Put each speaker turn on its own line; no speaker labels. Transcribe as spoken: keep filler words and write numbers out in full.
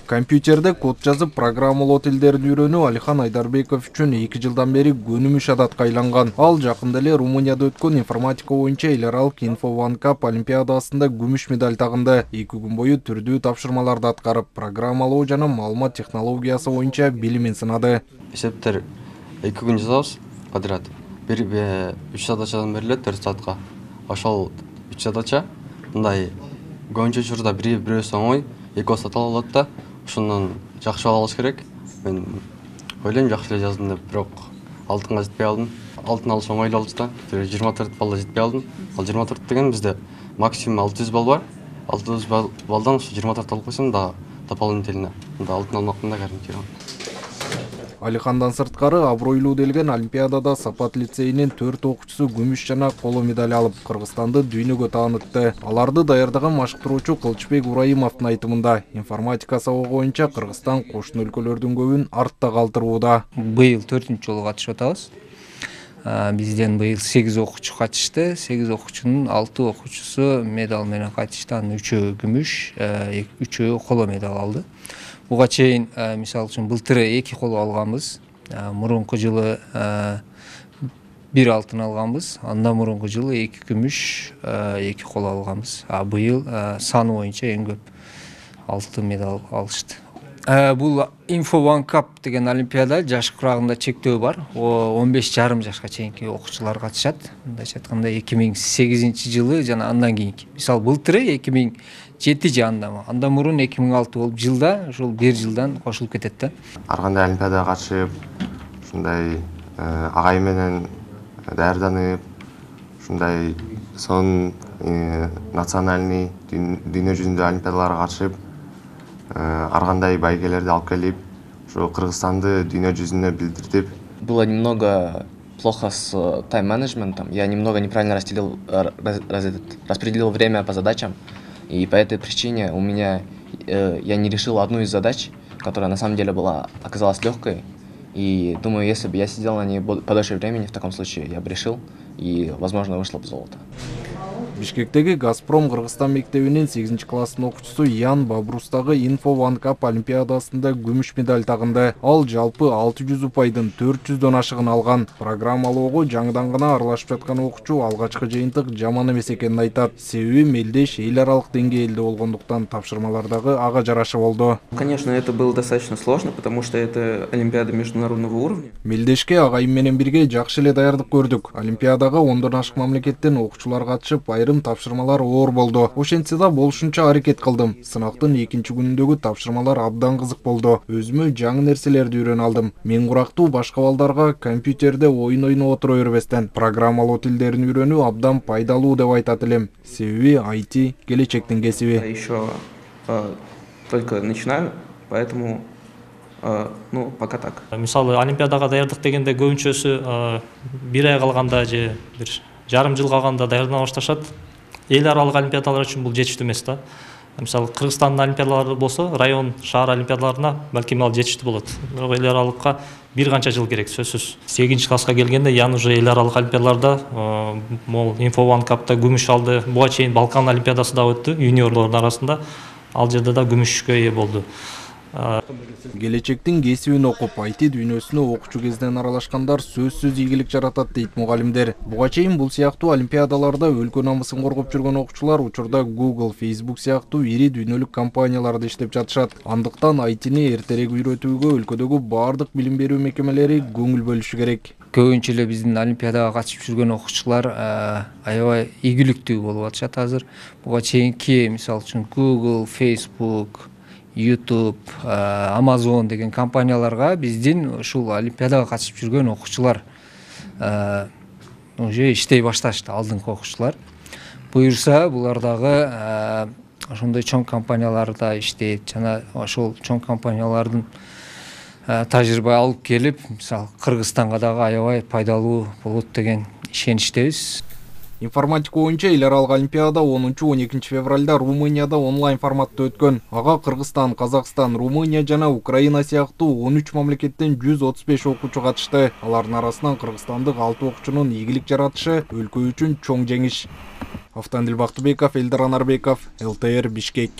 Компьютерде код жазып программалоо тилдерин үйрөнүү Алихан Айдарбеков үчүн эки жылдан бери көнүмүш адатка айланган. Ал жакында эле Румынияда өткөн информатика боюнча эл аралык Info One Cup олимпиадасында күмүш медаль тагынды. эки күн бою түрдүү тапшырмаларды аткарып, программалоо жана маалымат технологиясы боюнча билимин сынады.
Эсептер эки күн жазабыз подряд. Бир үч задачадан берилет төрт саатка. Ошол үч задача мындай көбүнчө учурда бири бирөөсү оңой, экөөсү татаал болот да. Ошондон жакшы бал алыш керек. Мен ойлойм жакшы эле жаздым деп, бирок алтынга жетпей алдым. Алтын алыш оңой эле болчу да. жыйырма төрт балда жетпей алдым. Ал жыйырма төрт деген бизде максимум алты жүз балл бар. алты жүз балдан ошо жыйырма төрт алып койсом да дополнительно. Мында алтын алмакмын да гарантированно.
Алихандан сырткары абройлуу делген олимпиадада Сапат лицейинин төрт окуучусу күмүш жана коло медаль алып, Кыргызстанды дүйнөгө таанытты. Аларды даярдаган машыктыруучу Кылычбек Урайымовдун айтымында, информатика сабагы боюнча Кыргызстан кошуна өлкөлөрдүн көбүн артта калтырууда.
Быйыл төртүнчү жолу катышып атабыз. Бизден быйыл сегиз окуучу катышты. сегиз окуучунун алты окуучусу медаль менен катышты. Анын үчөө күмүш, үчөө коло медаль алды. Буга чейин мисалы үчүн былтыр эки коло алганбыз. Мурунку жылы бир алтын алганбыз. Андан мурунку жылы эки күмүш, эки коло алганбыз. А быйыл саны боюнча эң көп алты медаль алышты. Бул Info One Cup деген олимпиада жаш курагында чектөө бар. он беш жарым жашка чейинки окуучулар катышат. Мындайча айтканда эки миң сегизинчи жылы жана андан кийинки. Мисалы былтыр эки миң жети же андан, андан мурун эки миң алты болуп жылда, ушул бир жылдан кошулуп кетет да.
Ар кандай олимпиадага катышып, ушундай агайым менен даярданып, ушундай сонун национальный дүйнө жүзүндө олимпиадаларга катышып, ар кандай байгелерди алып келип, ушу Кыргызстанды дүйнө жүзүнө билдиртип.
Было немного плохо с тайм-менеджментом. Я немного неправильно разделил, раз, раз, распределил время по задачам. И по этой причине у меня э, я не решил одну из задач, которая на самом деле была оказалась легкой. И думаю, если бы я сидел на ней подольше времени, в таком случае я бы решил, и, возможно, вышло бы золото.
Бишкектеги Газпром Кыргызстан мектебинин сегизинчи класстын окуучусу Ян Бабрустагы Info One Cup олимпиадасында күмүш медаль тагынды. Ал жалпы алты жүз упайдын төрт жүздөн ашыгын алган. Программалоого жаңыдан гана аралашып жаткан окуучу алгачкы жыйынтык жаман эмес экенин айтат. Себеби мелдеш эл аралык деңгээлде болгондуктан тапшырмалардагы ага жарашы болду.
Конечно, это было достаточно сложно, потому что это олимпиада международного уровня.
Мелдешке агайым менен бирге жакшы эле даярдык көрдүк. Олимпиадага ондон ашык мамлекеттен окуучулар катышып, айрым тапшырмалар оор болду. Ошентсе да болушунча аракет кылдым. Сынактын экинчи күнүндөгү тапшырмалар абдан кызык болду. Өзүмө жаңы нерселерди үйрөнө алдым. Мен курактуу башка балдарга компьютерде оюн ойноп отура бербестен программалоо тилдерин үйрөнүү абдан пайдалуу деп айтат элем. Себеби ай ти келечектин кесиби.
Я еще э, только начинаю, поэтому э, ну пока так.
Мисалы олимпиадага даярдык дегенде көбүнчөсү бир ай калганда же бир жарым жыл калганда даярдана башташат. Эл аралык олимпиадалар үчүн бул жетиштүү эмес да. Мисалы Кыргызстандын олимпиадалары болсо, район, шаар олимпиадаларына балким ал жетиштүү болот. Бирок эл аралыкка бир канча жыл керек, сөзсүз. сегизинчи класска келгенде Ян уже эл аралык олимпиадаларда, мол Info One Cup'та күмүш алды. Буга чейин Балкан олимпиадасы да өттү, юниорлордун арасында. Ал жерде да күмүшкө ээ болду.
Келечектин кесибин окуп, ай ти дүйнөсүнө окуучу кезден аралашкандар сөзсүз ийгилик жаратат дейт мугалимдер. Буга чейин бул сыяктуу олимпиадаларда өлкө намысын коргоп жүргөн окуучулар учурда Google, Facebook сыяктуу ири дүйнөлүк компанияларда иштеп жатышат. Андыктан ай тини эртерээк үйрөтүүгө өлкөдөгү бардык билим берүү мекемелери көңүл бөлүшү керек.
Көбүнчө эле биздин олимпиадага катышып жүргөн окуучулар аябай ийгиликтүү болуп атышат азыр. Буга чейинки мисалы үчүн Google, Facebook, YouTube, Amazon деген компанияларга биздин ушул олимпиадага катышып жүргөн окуучулар уже иштей башташты, алдыңкы окуучулар. Буюрса, булар дагы ошондой чоң компанияларда иштейт жана ошол чоң компаниялардын тажрыйба алып келип, мисалы Кыргызстанга дагы аябай пайдалуу болот деген ишеничтебиз.
Информатика боюнча эл аралык олимпиада онунчу он экинчи февралда Румынияда онлайн форматта өткөн. Ага Кыргызстан, Казакстан, Румыния жана Украина сыяктуу он үч мамлекеттен жүз отуз беш окуучу катышты. Алардын арасынан кыргызстандык алты окуучунун ийгилик жаратышы өлкө үчүн чоң жеңиш. Автандил Бактыбеков, Элдар Анарбеков, эл тэ эр Бишкек.